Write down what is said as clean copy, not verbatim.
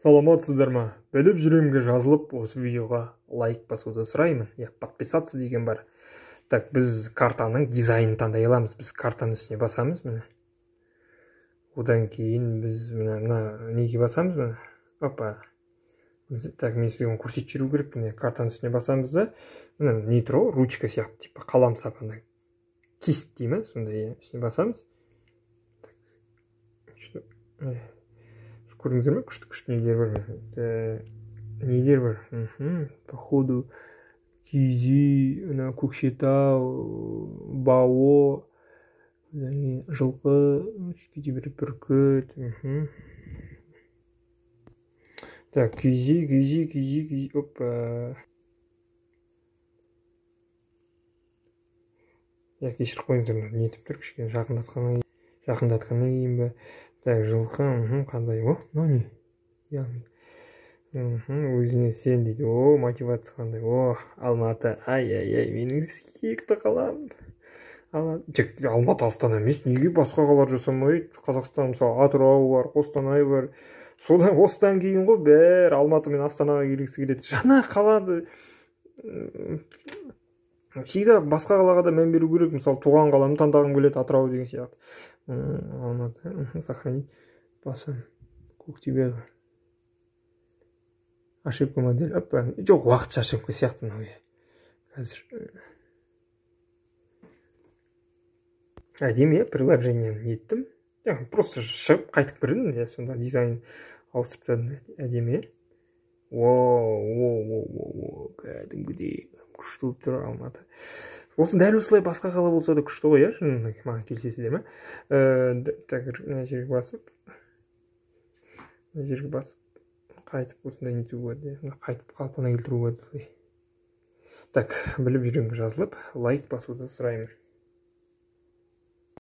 Саламатсыздар ма? Біліп жүремге жазылып, осы видеоға лайк басуды сұраймын. Подписаться деген бар. Так, біз картаның дизайнын таңдай аламыз. Біз картаның үстіне басамыз, міне. Одан кейін біз мына неге басамыз, міне. Опа. Так, мен сізге көрсетіп жүру керек, міне картаның үстіне басамыз да, міне не тұр ғой, ручка сияқты, типа қалам сапандай. Кист дей ме? Сондай үстіне басамыз. Көрдіңіздер ме? Күшті нелер бар. Нелер бар. Походу Кизи, Көкшетау, Бао, жылқы, кейбір бүркіт. Так, Кизи. Опа. Кешіріп қойыңыздар, не етіп тұр, кішкене жақындатқаннан кейін бе. Так, жылқы, қандай, мынау не? Өзіне сен дейді, мотивация қандай, Алматы, ай, менің сүйікті қалам. Алматы Астана емес, неге басқа қалалар жасамайды? Қазақстан мысалы Атырау бар, Қостанай бар. Осыдан кейін ғой бәрі Алматы мен Астанаға келгісі келеді. Жаңа қалады. Всегда басқа қалаға да мән беру керек. Мысалы туған қаламды таңдағым келеді, Атырау деген сияқты. Алматы, сохранить, басам, Көктөбе. Ошибка модель. Жоқ, уақытша ошибка сияқты мынау. Қазір әдемі, приложениені еттім. Просто шығып қайтып кірдім, сонда дизайн ауыстырып тастадым. Әдемі. Кәдімгідей күшті болып тұр Алматы. Осы дәл осылай басқа қала болса да күшті ғой, маған келісесіздер ме? Так, мына жерге басып қайтып осындай нету болады, қайтып қалпына келтіру болады. Так, біліп жүремге жазылып, лайк басуды сұраймын.